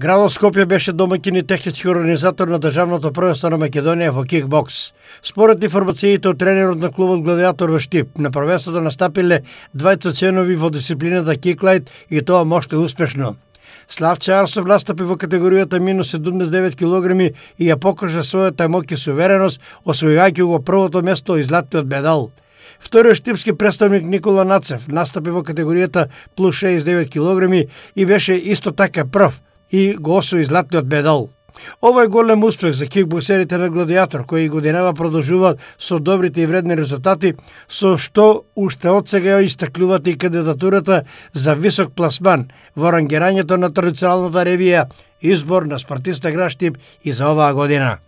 Градот Скопје беше домаќин и технички организатор на државното првенство на Македонија во кикбокс. Според информациите од тренерот на клубот Гладиатор во Штип, на првенството настапиле двајца членови во дисциплината киклайт и тоа моште успешно. Славче Арсов настапи во категоријата минус 79 кг и ја покажа својата моќ и сувереност, освојувајќи го првото место и златниот медал. Вториот штипски представник Никола Нацев настапи во категоријата плюс 69 кг и беше исто така прв и го освои златниот медал. Ова е голем успех за кикбоксерите на Гладиатор, кои годинава продолжуваат со добрите и вредни резултати, со што уште од сега истакнуваат и кандидатурата за висок пласман во рангирањето на традиционалната ревија Избор на спортиста Град Штип и за оваа година.